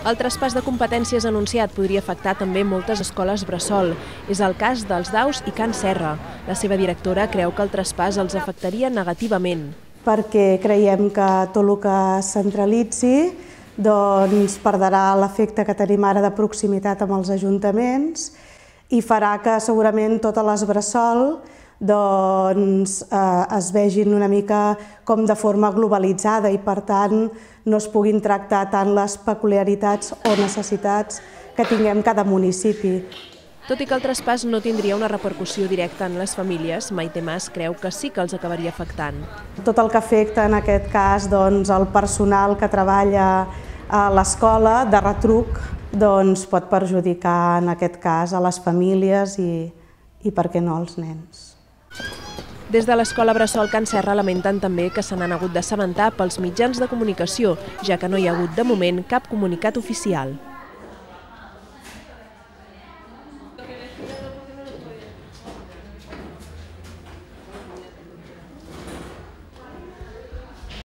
El traspàs de competències anunciat podria afectar també moltes escoles bressol. És el cas dels Daus i Can Serra. La seva directora creu que el traspàs els afectaria negativament. Perquè creiem que tot el que es centralitzi perdrà l'efecte que tenim ara de proximitat amb els ajuntaments i farà que segurament totes les bressol es vegin una mica com de forma globalitzada i per tant no es puguin tractar tant les peculiaritats o necessitats que tinguem cada municipi. Tot i que el traspàs no tindria una repercussió directa en les famílies, Maite Mas creu que sí que els acabaria afectant. Tot el que afecta en aquest cas el personal que treballa a l'escola de retruc pot perjudicar en aquest cas a les famílies i per què no als nens. Des de l'escola bressol Can Serra lamenten també que se n'han hagut d'assabentar pels mitjans de comunicació, ja que no hi ha hagut de moment cap comunicat oficial.